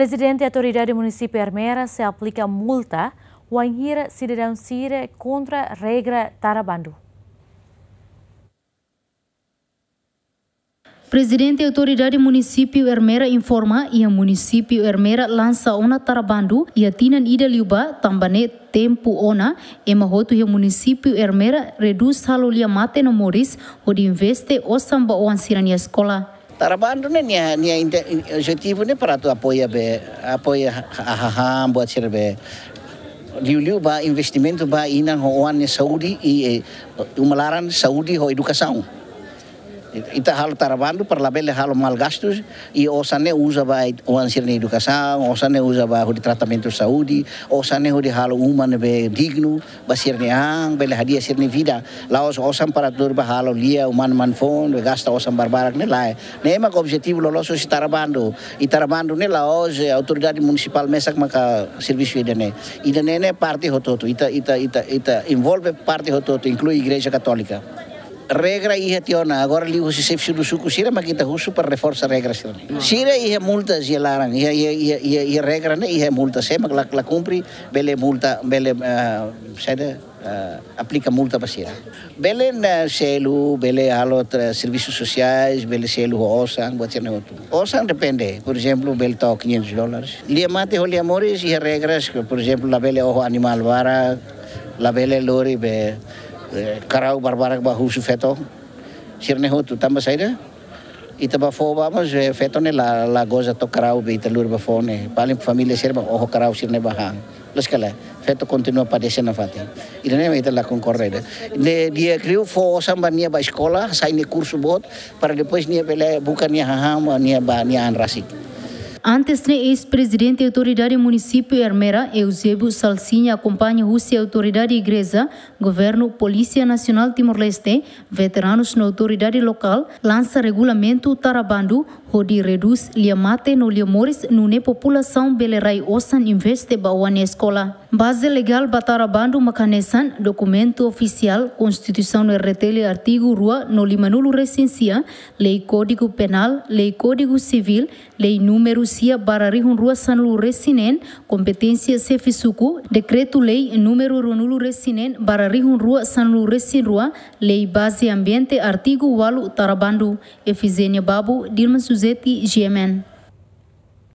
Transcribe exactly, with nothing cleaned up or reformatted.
Prezidente Autoridade Munisípiu Ermera sei aplika multa wainhira sidadaun sira kontra regra tara bandu. Prezidente Autoridade Munisípiu Ermera informa, iha Munisípiu Ermera lansa ona tara bandu iha tinan ida liubá, tanba ne'e tempu ona ema hotu iha Munisípiu Ermera redús halo lia mate no moris, hodi investe osan ba oan sira-nia eskola. Tara bandu ne'e nia, nia inte-, in-, objetivu ne'e para atu apoia be, apoia ha-, ha-, hahán buat sira be. Liuliu ba investimentu ba inan ho oan nia saúde i, eh, uma laran, saúde ho edukasaun. Ita halo tara bandu para labele halo mal gastus, i osan ne'e uza ba oan sira-nia edukasaun, osan ne'e uza ba hodi tratamentu saúde, osan ne'e hodi halo uma ne'ebé dignu ba sira-nia an, bele hadi'a sira-nia vida. La'ós osan para tuur ba halo lia, uma mane foun, gasta osan barbarak ne'e lae. Ne'e mak objetivu loloos husi tara bandu. I tara bandu ne'e la'ós, eh, autoridade munisipál mesak maka servisu ida-ne'e. Ida-ne'e ne'e parte hotu-hotu. Ita, ita, ita, ita envolve parte hotu-hotu, inklui Igreja Katólika. Regra iha tiha ona, agora liuhusi xefe suku sira mak ita husu para reforsa regra sira-ne'e. Sira iha multa iha laran, iha, iha, iha, iha, iha regra ne'e iha multa, se mak la, la kumpre, bele multa, bele, eh, saida, eh, aplika multa ba sira. Bele na selu, bele halo tra-, servisu sosiais, bele selu ho osan, buat sira-ne'e hotu. Osan depende, por ezemplu, bele to'o quinhentos dólares. Lia mate ho lia moris iha regras, por ezemplu, labele oho animál barak, labele lori be, eh, karau barbarak ba husu feto. Sira-ne'e hotu, tanba saida? Ita ba fó ba, mas, eh, feto ne'e la, la goza to'o karau be ita lori ba fó ne'e. Paling família sira ba oho karau sira-ne'e ba han. Loos ka lae, feto kontinua padese nafatin. Ida-ne'e mak ita la konkorda ida. Ne'e nia kriu fó osan ba nia ba eskola, sai nia kursu boot, para depois nia bele buka nia hahán, nia ba nia an rasik. Antes ne'e, eis-prezidente Autoridade Munisípiu Ermera, Eusébio Salsinha, akompaña husi autoridade igreja, governu, Polísia Nasionál Timor-Leste, veteranus no autoridade lokál, lansa regulamentu tara bandu, hodi redús lia mate no lia moris, nune'e populasaun bele rai osan investe ba oan nia eskola. Baze legál ba tara bandu mak hanesan dokumentu ofisiál, Konstituisaun R D T L artigu rua no limanulu resin sia, Lei Kódigu Penál, Lei Kódigu Sivíl, Lei númeru sia barra rihun rua sanulu resin neen, kompeténsia xefe suku, Dekretu-Lei númeru ruanulu resin neen barra rihun rua sanulu resin rua, Lei Baze Ambiente, artigu ualu, tara bandu. Efizénia Babu, Dilma Suzeti, G M N.